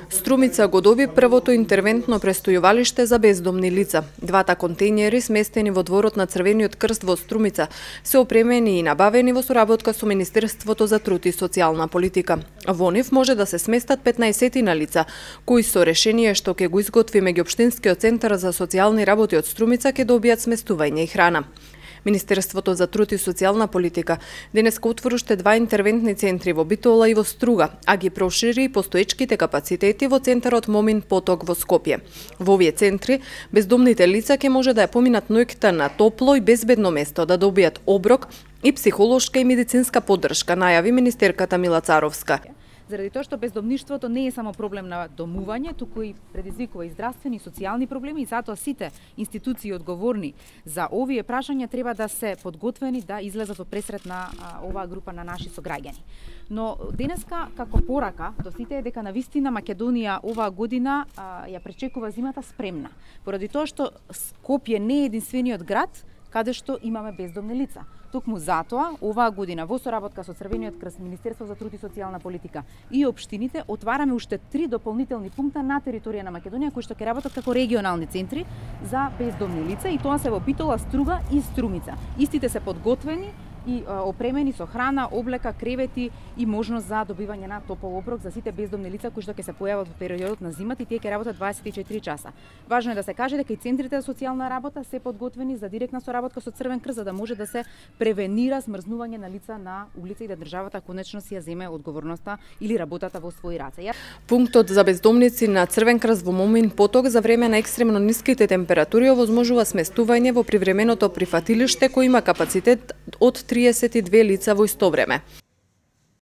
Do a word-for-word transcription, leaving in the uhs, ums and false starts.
Струмица го доби првото интервентно престојувалиште за бездомни лица. Двата контејнери, сместени во дворот на Црвениот крст во Струмица, се опремени и набавени во соработка со Министерството за труд и социјална политика. Во нив може да се сместат петнаесет лица, кои со решение што ќе го изготви меѓуопштинскиот центар за социјални работи од Струмица ќе добијат сместување и храна. Министерството за труд и социјална политика денеска отвори уште два интервентни центри во Битола и во Струга, а ги прошири и постоечките капацитети во центарот Момин Поток во Скопје. Во овие центри бездомните лица ќе може да ја поминат ноќта на топло и безбедно место, да добијат оброк и психолошка и медицинска поддршка, најави министерката Мила Царовска. Заради тоа што бездомништвото не е само проблем на домување, туку и предизвикува и здравствени и социјални проблеми, и затоа сите институции одговорни за овие прашања треба да се подготвени да излезат во пресрет на а, оваа група на наши сограѓани. Но денеска како порака до сите е дека навистина Македонија оваа година а, ја пречекува зимата спремна, поради тоа што Скопје не е единствениот град каде што имаме бездомни лица. Токму затоа, оваа година во соработка со Црвениот крст, Министерство за труд и социјална политика и општините отвараме уште три дополнителни пункта на територија на Македонија кои што ќе работат како регионални центри за бездомни лица, и тоа се во Битола, Струга и Струмица. Истите се подготвени и опремени со храна, облека, кревети и можност за добивање на топол оброк за сите бездомни лица кои што ќе се појават во периодот на зимата, и тие ќе работат дваесет и четири часа. Важно е да се каже дека и центрите за социјална работа се подготвени за директна соработка со Црвен крст, за да може да се превенира смрзнување на лица на улица и да државата конечно си ја земе одговорноста или работата во своји раце. Пунктот за бездомници на Црвен крст во Момин Поток за време на екстремно ниските температури овозможува сместување во привременото прифатилиште кој има капацитет од триесет и две лица во исто време.